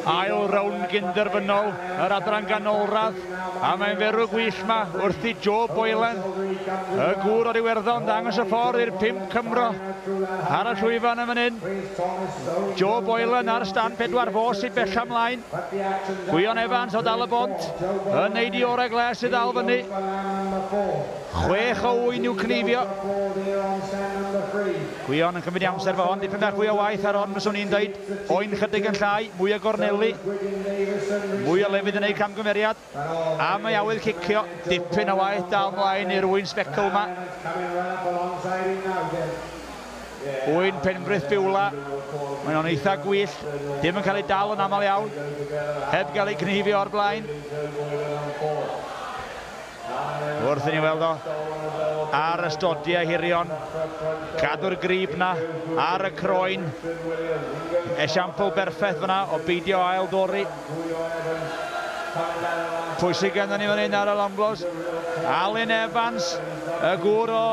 Ail rownd gynderfynol yr adran ganolradd, a mae'n ferw gwyll ma wrth i Joe Boylan, y gŵr o'r Iwerddon, ddangos y ffordd i'r 5 Cymro ar y llwyfan yn fan hyn. Joe Boylan ar stand 4, fo sydd bella ymlaen. Gwion Evans o Dal y Bont yn neud i orau gles i ddal fyny. 6 o ŵyn i'w cneifio. Gwion yn cymryd amser fo hon, dipyn bach fwy o waith ar hon, fyswn i'n dweud. Oen chydig yn llai, mwy o gorneli, mwy o lefydd yn ei camgymeriad, a mae awydd cicio, dipyn o waith dal mlaen i'r ŵyn sbecl yma. Ŵyn Penbrith Biwla, mae o'n eitha gwyllt, dim yn cael ei dal yn aml iawn, heb gael ei gneifio o'r blaen. Wrth i ni weld o ar y stodiau hirion, cadw'r grib na ar y croen. Esiampl berffaith fyna o beidio ail dorri. Pwysig ganddo ni fan hyn ar y Longlos. Alun Evans, y gŵr o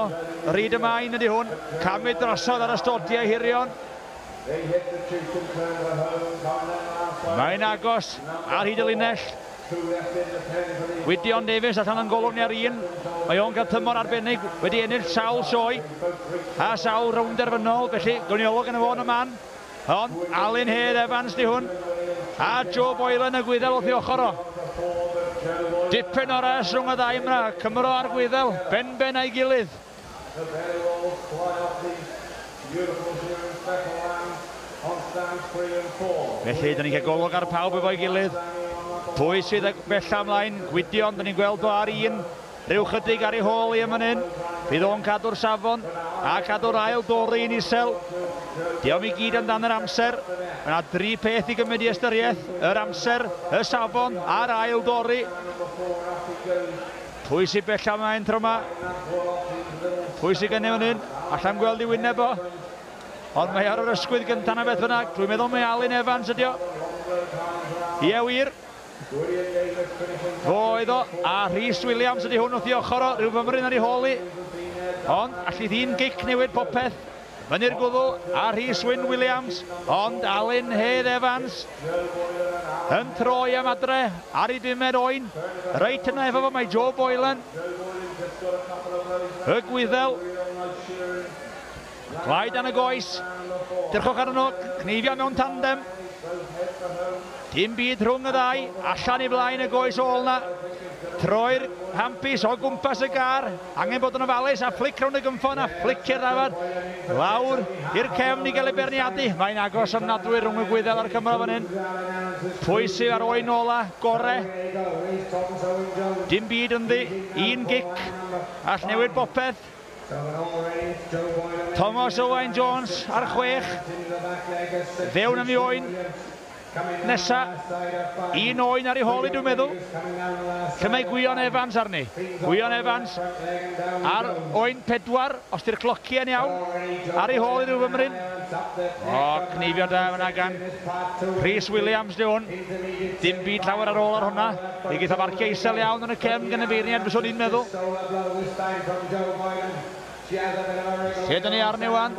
Rhyd y Main ydy hwn, camu drosodd ar y stodiau hirion. Mae'n agos ar hyd y linell. Gwydion Davies allan yn golwg ni ar un. Mae o'n cael tymor arbennig, wedi ennill sawl sioe a sawl rownd derfynol, felly gawn ni olwg arno fo yn y man. Ond Alun Hedd Evans di hwn, a Joe Boylan y Gwyddel wrth ei ochr o. Dipyn o res rhwng y ddau yma, Cymro a'r Gwyddel, ben-ben a'i gilydd. Felly, dyn ni'n cael golwg ar pawb efo'i gilydd. Pwy sydd bella ymlaen? Gwydion, dyn ni'n gweld o ar un. Rhyw chydig ar ei hôl i yn fan hyn. Bydd o'n cadw'r safon a cadw'r ail dori yn isel. Diolch i gyd amdan yr amser. Mae yna dri peth i gymryd i ystyriaeth. Yr amser, y safon a'r ail dori. Pwy sydd bella ymlaen tro yma? Pwy sydd gennym fan hyn? Allai'm gweld i wyneb o. Ond mae ar yr ysgwydd gyntaf na beth bynnag. Dwi'n meddwl mae Alun Evans ydi o. Ie wir. Fo oedd o. A Rhys Williams ydi hwn wrth i ochr o. Rhyw fymryn ar ei hôl i. Ond allith un gic newid popeth. Fyny'r gwddw a Rhys Wyn Williams, ond Alun Hedd Evans yn troi am adre ar ei bumed oen. Reit yna efo fo mae Joe Boylan. Y Gwyddel. Glai dan y goes. Dyrchwch arno nhw, cneifio mewn tandem. Dim byd rhwng y ddau, allan i flaen y goes ôl na. Troi'r handpiece o gwmpas y gar, angen bod yn ofalus a fflic rownd y gynffon a fflicio'r ddafad lawr i'r cefn i gael ei beirniadu. Mae'n agos ofnadwy rhwng y Gwyddel a'r Cymro fan hyn. Pwy sydd ar oen ola gore? Dim byd ynddi, un gic all newid bopeth. Thomas Owain Jones ar 6. Fewn am i oen nesa. Un oen ar ei hôl i dwi'n meddwl. Lle mae Gwion Evans arni? Gwion Evans ar oen 4, os di'r clociau'n iawn, ar ei hôl i ryw fymryn. O, cneifio da fyna gan Rhys Williams di hwn. Dim byd llawer ar ôl ar hwnna. Fe geith o farciau isel iawn yn y cefn gan y beirniad, fyswn i'n meddwl. Lle dyn ni arni wan?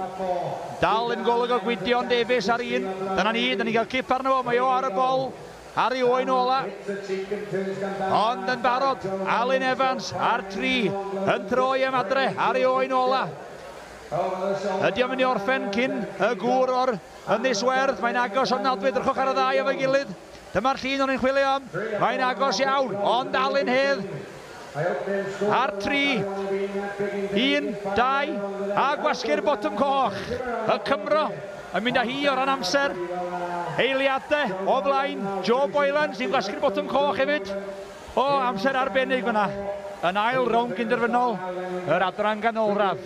Dal yn golwg o Gwydion Davies ar un. Dyna ni, dyn ni'n cael cip arno fo, mae o ar y bol, ar ei oen ola. Ond yn barod, Alun Evans ar 3, yn troi am adre, ar ei oen ola. Ydy o'n mynd i orffen cyn y gŵr o'r Ynys Werdd? Mae'n agos ofnadwy, drychwch ar y ddau efo'i gilydd. Dyma'r llun o'n i'n chwilio am. Mae'n agos iawn, ond Alun Hedd ar 3, 1, 2, a gwasgu'r botwm coch. Y Cymro yn mynd â hi o ran amser. Eiliadau o flaen Joe Boylan sy'n gwasgu'r botwm coch hefyd. O, amser arbennig fyna. Yn ail rownd gynderfynol yr adran ganolradd.